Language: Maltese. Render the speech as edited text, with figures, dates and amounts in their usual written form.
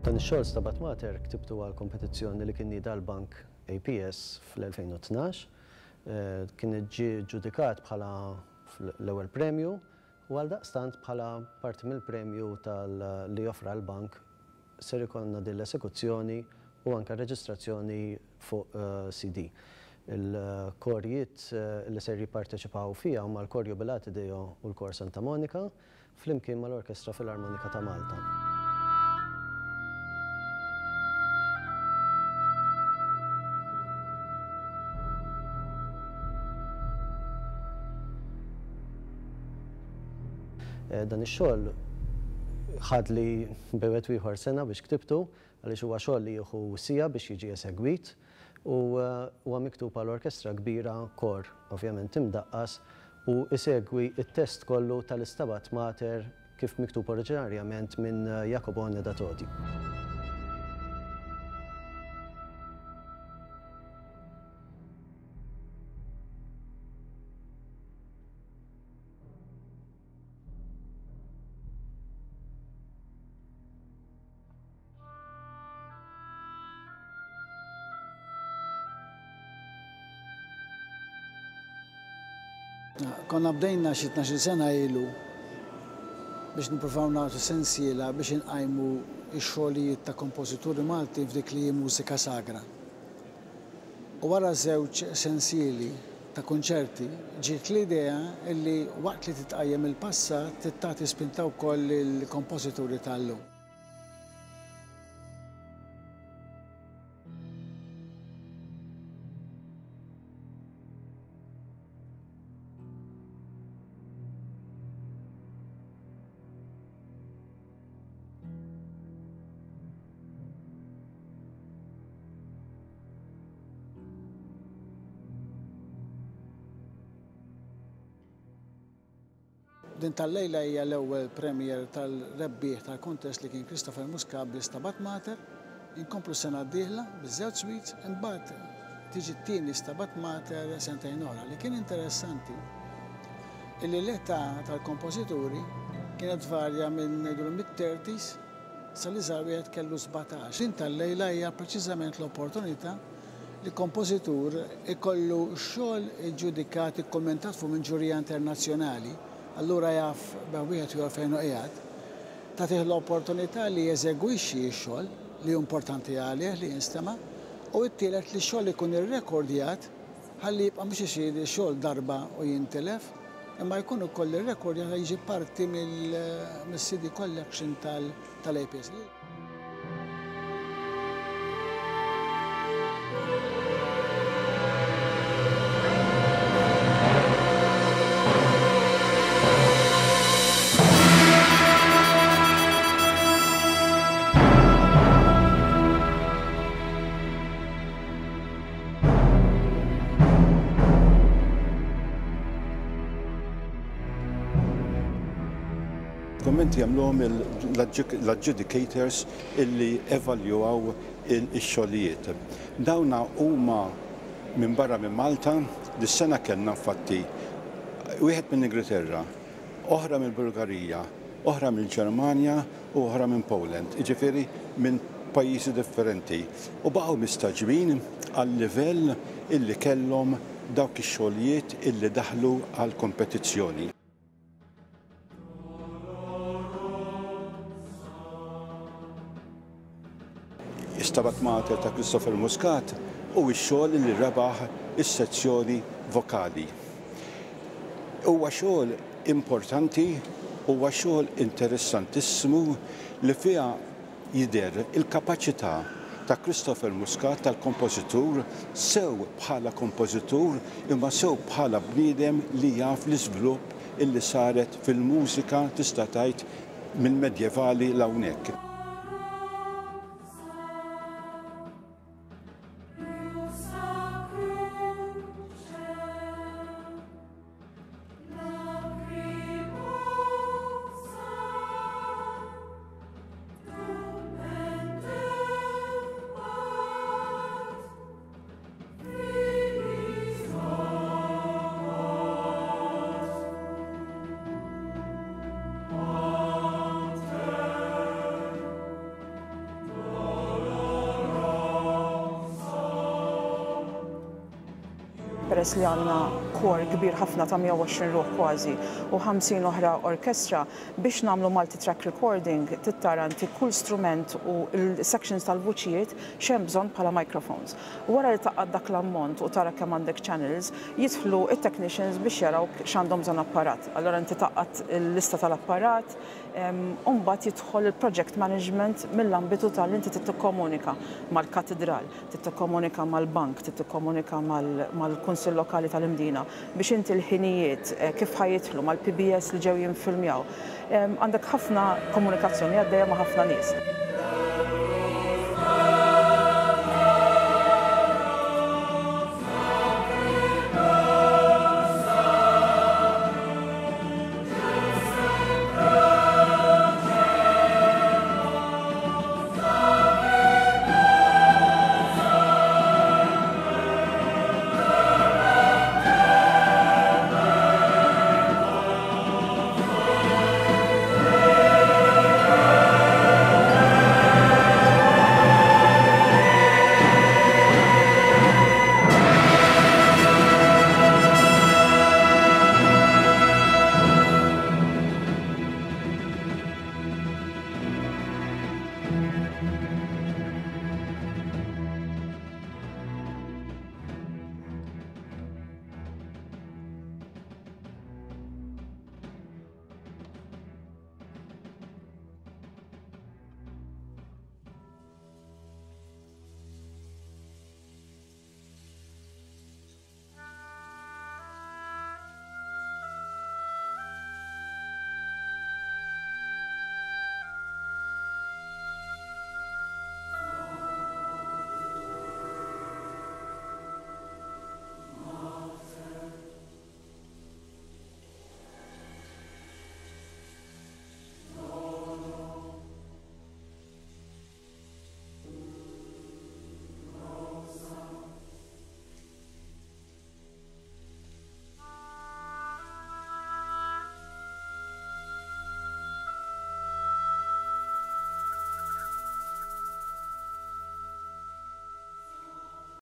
Dan ix-xogħol Stabat Mater ktibtu għal kompetizzjoni li kien nieda l-Bank APS fl-2012. Kien ġie ġġudikat bħala l-ewwel premju u għaldaqstant bħala parti mill-premju tal li offra l-bank ser ikollna din l-esekuzzjoni u anke reġistrazzjoni fuq CD. Il-korijiet li ser jipparteċipaw fiha huma l-Kor Jubilate Deo u l-Kor Santa Monika flimkien mal-Orkestra Filarmonika ta' Malta. Dan ix-xogħol ħadli bejn wieħed u ieħor sena biex ktibtu għaliex huwa xogħol li jieħu siegħa biex jiġi esegwit u huwa miktub għal orkestra kbira, kor ovvjament imdaqqas u isegwi t-test kollu tal-Istabat Mater kif miktub oriġinarjament minn Jacobone da Todi. Konna bdejna xi 12 sena ilu biex nippruvaw nagħtu sensiela biex inqajmu x-xogħlijiet ta' kompożituri Maltin f'dik li hi mużika sagra. U wara żewġ sensieli ta' kunċerti, ġiet l-idea li waqt li titqajjem il-passat trid tagħti spinta wkoll lill-kompożituri tal-lum. Din tal-lejla hija l-ewwel premiere tal-rebbieħ tal-kuntest li kien Christopher Muscat bl-Istabat Mater. Inkomplu s-sena d-dieħla biż-żewġ suites, imbagħad tiġi t-tieni Stabat Mater sentejn oħra. Li kien interessanti illi l-età tal-kompożituri kienet tvarja minn ngħidulu mid-thirties sal-iżgħar wieħed kellu 17. Din tal-lejla hija preċiżament l-opportunità li kompożitur ikollu xogħol iġġudikat, ikkummentat fuq minn ġurija internazzjonali, allura jaf bejn wieħed u ieħor fejn hu qiegħed, tagħtih l-opportunità li jeżegwixxi x-xogħol, li hu importanti għalih li jinstema', u t-tielet li x-xogħol ikun irrekordjat ħalli jibqa' mhux isir xogħol darba u jintilef, imma jkun ukoll irrekordjat ħalli jiġi parti mill-CD collection tal-APS. Kummenti jagħmluhom l-adjudicators illi evaljuaw ix-xogħlijiet. Dawna huma minn barra minn Malta, dis-sena kellna infatti wieħed mill-Ingilterra, oħra mill-Bulgarija, oħra mill-Ġermanja u oħra minn Poland, jiġifieri minn pajjiżi differenti u baqgħu mistagħġbin għal-livell illi kellhom dawk ix-xogħlijiet illi daħlu għall-kompetizzjoni. Stabat Mater ta' Christopher Muscat hu x-xogħol li rebaħ is-sezzjoni vokali. Huwa xogħol importanti, huwa xogħol interessantissimu li fiha jidher il-kapaċità ta' Christopher Muscat tal-kompożitur sew bħala kompożitur imma sew bħala bniedem li jaf l-iżvilupp illi saret fil-mużika tista' tgħid mill-medjevali 'l hawnhekk. Peress li għandna kor kbir ħafna ta' 120 ruħ kważi u 50 oħra orkestra, biex nagħmlu multi-track recording trid tara inti kull strument u l-sections tal-vuċijiet x'hemm bżonn bħala microphones. Wara li tgħaqqad dak l-ammont u tara kemm għandek channels, jidħlu t-technicians biex jaraw x'għandhom bżonn apparat. Allura inti tgħaqqad il-lista tal-apparat, U mbagħad jidħol il-project management mill-ambitu ta' li inti trid tikkomunika mal-katidral, trid tikkomunika mal-bank, trid tikkomunika mal-Kunsill Lokali tal-Imdina biex inti l-ħinijiet kif ħa jidħlu, mal-PBS li ġew jinfilmjaw. Għandek ħafna komunikazzjoni għaddejja ma' ħafna nies.